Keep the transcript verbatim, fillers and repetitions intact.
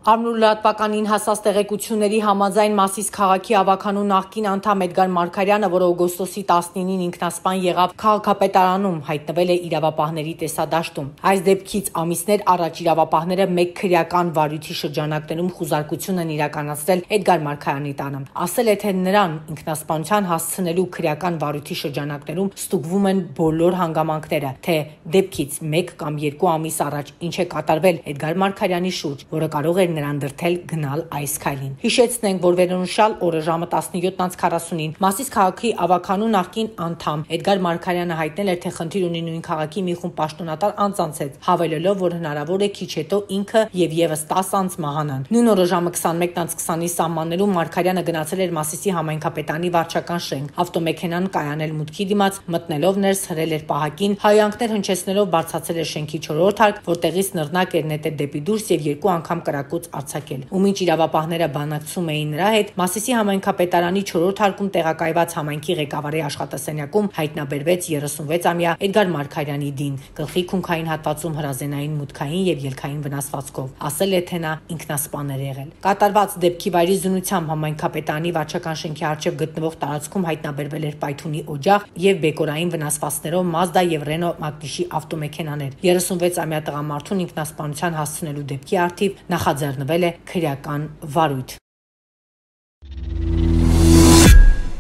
Ամրուլատպականին հասած տեղեկությունների համաձայն Մասիս քաղաքի ավականու նախկին անդամ Էդգար Մարգարյանը, որը օգոստոսի տասնինին ինքնասպան եղավ քաղաքապետարանում, հայտնվել է իրավապահների տեսադաշտում։ Այս դեպքից ամիսներ առաջ իրավապահները մեկ քրեական վարույթի շրջանակներում խուզարկություն են իրականացրել Էդգար Մարգարյանի տանը։ Ասել է, թե նրան ինքնասպանության հասցնելու քրեական վարույթի շրջանակներում ստուգվում են բոլոր հանգամանքները, թե դեպքից մեկ կամ երկու ամիս առաջ ինչ է կատարվել Էդգար Մարգարյանի շուրջ, որը կարող էր նրան դրդել գնալ այս քայլին։ Հիշեցնենք, որ վերոնշյալ օրը ժամը տասնյոթ քառասունին Մասիս քաղաքի ավականու նախկին անդամ Էդգար Մարգարյանը հայտնել էր, թե խնդիր ունի նույն քաղաքի մի խումբ պաշտոնատար անձանց հետ, հավելելով, որ հնարավոր է քիչ հետո ինքը եւ եւս տասը անձ մահանան։ Նույն օրը ժամը քսանմեկ քսանի սահմաններում Մարգարյանը գնացել էր Մասիսի համայնքապետարանի վարչական շենք, ավտոմեքենան կայանել մուտքի դիմաց, մտնելով ներս հրել էր պահակին, հայանքներ հնչեցնելով բարձրացել էր շենքի չորրորդ հարկ, որտեղից նռնակ էր նետել դեպի դուրս եւ երկու անգամ կրակոց արձակել։ Ու մինչ իրավապահները բանակցում էին նրա հետ, Մասիսի համայնքապետարանի չորրորդ հարկում տեղակայված համայնքի ղեկավարի աշխատասենյակում հայտնաբերվեց երեսունվեցամյա Էդգար Մարգարյանի դին, գլխի քունքային հատվածում հրազենային մուտքային եւ ելքային վնասվածքով։ Ասել է, թե նա ինքնասպան էր եղել։ Կատարված դեպքի վայրի զինությամբ համայնքապետարանի վարչական շենքի առջև գտնվող տարածքում հայտնաբերվել էր պայթունի օջախ եւ բեկորային վնասվածքներով Մազդա եւ Ռենո Մակնիշի ավտոմեքենաներ։ երեսունվեցամյա տղամարդուն ինքնասպանության հասցնելու դեպքի առթիվ նախաձեռնվել է քրեական վարույթ։